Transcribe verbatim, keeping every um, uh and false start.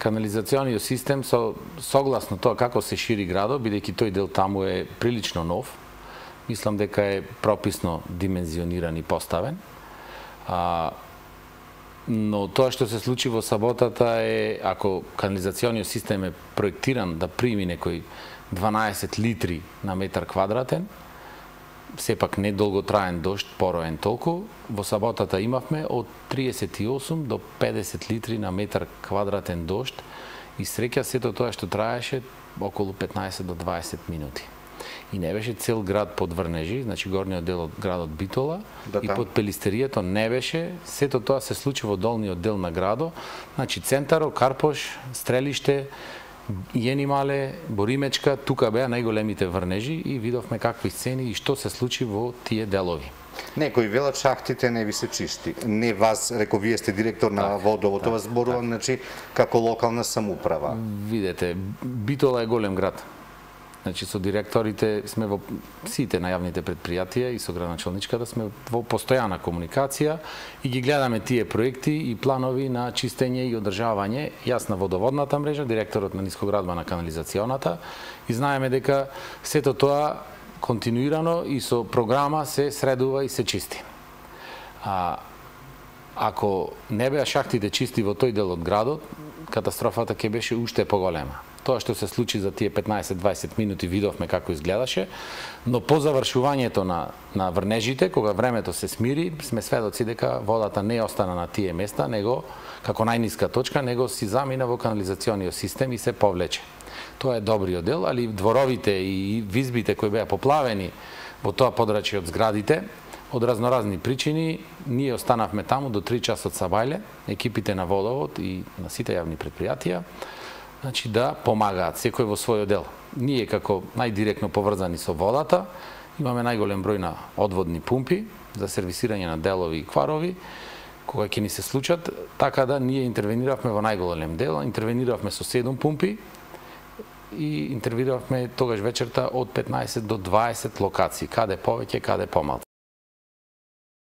канализациониот систем со согласно тоа како се шири градот, бидејќи тој дел таму е прилично нов, мислам дека е прописно димензиониран и поставен. А, но тоа што се случи во саботата е, ако канализациониот систем е проектиран да прими некои дванаесет литри на метар квадратен, сепак не долготраен дожд, пороен толку, во саботата имавме од триесет и осум до педесет литри на метар квадратен дожд и среќа сето тоа што траеше околу петнаесет до дваесет минути. И не беше цел град под врнежи, значи горниот дел од градот Битола да, и под пелистеријето не беше, сето тоа се случи во долниот дел на градот, значи центаро, Карпош, Стрелиште, Јенимале, Боримечка, тука беа најголемите врнежи и видовме какви сцени и што се случи во тие делови. Некои велат шахтите не ви се чисти. Не вас, реко, вие сте директор на так, водовото, так, вас зборувам, так. Значи, како локална самоуправа. Видете, Битола е голем град. Значи, со директорите сме во сите најавните предпријатија и со градоначалничката сме во постојана комуникација и ги гледаме тие проекти и планови на чистење и одржавање. Јас на водоводната мрежа, директорот на нискоградба на канализационата и знаеме дека сето тоа континуирано и со програма се средува и се чисти. А, ако не беа шахтите чисти во тој дел од градот, катастрофата ќе беше уште поголема. Тоа што се случи за тие петнаесет до дваесет минути видовме како изгледаше, но по завршувањето на, на врнежите, кога времето се смири, сме сведоци дека водата не остана на тие места, него како најниска точка, него си замина во канализациониот систем и се повлече. Тоа е добриот дел, али дворовите и визбите кои беа поплавени во тоа подрачје од зградите, од разноразни причини, ние останавме таму до три часот сабајле, екипите на водовод и на сите јавни предпријатија, значи да помагаат секој во својот дел. Ние како најдиректно поврзани со водата, имаме најголем број на одводни пумпи за сервисирање на делови и кварови, кога ќе ни се случат, така да ние интервениравме во најголем дел, интервениравме со седум пумпи и интервениравме тогаш вечерта од петнаесет до дваесет локации, каде повеќе, каде помалку.